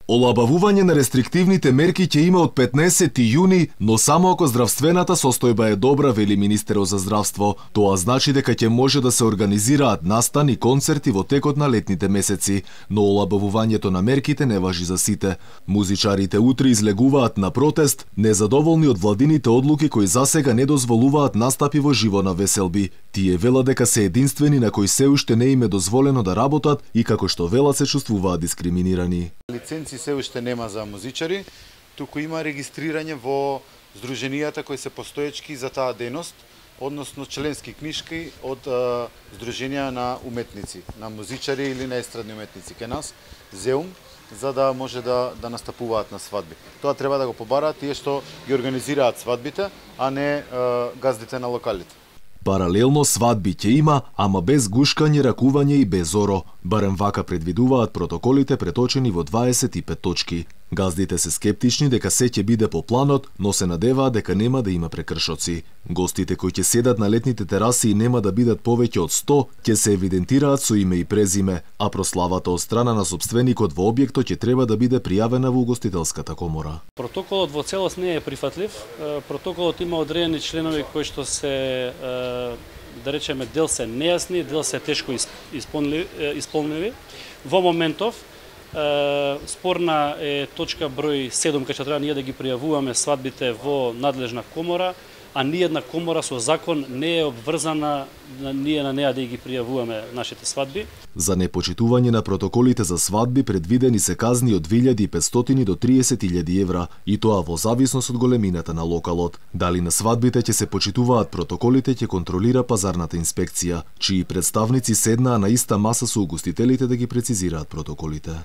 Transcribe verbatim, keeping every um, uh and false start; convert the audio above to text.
Олабавување на рестриктивните мерки ќе има од петнаесети јуни, но само ако здравствената состојба е добра, вели министерот за здравство. Тоа значи дека ќе може да се организираат настани и концерти во текот на летните месеци, но олабавувањето на мерките не важи за сите. Музичарите утре излегуваат на протест, незадоволни од владините одлуки кои засега не дозволуваат настапи во живо на веселби. Тие велат дека се единствени на кои се уште не им е дозволено да работат и како што велат се чувствуваат дискриминирани. Лиценци се уште нема за музичари, туку има регистрирање во здруженијата кои се постоечки за таа дејност, односно членски книшки од е, здруженија на уметници, на музичари или на естрадни уметници кај нас, ЗЕУМ, за да може да, да настапуваат на свадби. Тоа треба да го побараат тие што ги организираат свадбите, а не е, газдите на локалите. Паралелно свадби ќе има, ама без гушкање, ракување и без оро. Барем вака предвидуваат протоколите преточени во дваесет и пет точки. Газдите се скептични дека се ќе биде по планот, но се надеваат дека нема да има прекршоци. Гостите кои ќе седат на летните тераси и нема да бидат повеќе од сто, ќе се евидентираат со име и презиме, а прославата од страна на сопственикот во објектот ќе треба да биде пријавена во угостителската комора. Протоколот во целост не е прифатлив. Протоколот има одредени членови кои што се, да речеме, дел се нејасни, дел се тешко исполнливи. Во моментов спорна е точка број седум, кај што треба ние да ги пријавуваме свадбите во надлежна комора, а ниедна комора со закон не е обврзана ние на неа да ги пријавуваме нашите свадби. За непочитување на протоколите за свадби предвидени се казни од две илјади и петстотини до триесет илјади евра, и тоа во зависност од големината на локалот. Дали на свадбите ќе се почитуваат протоколите ќе контролира пазарната инспекција, чии представници седнаа на иста маса со угостителите да ги прецизираат протоколите.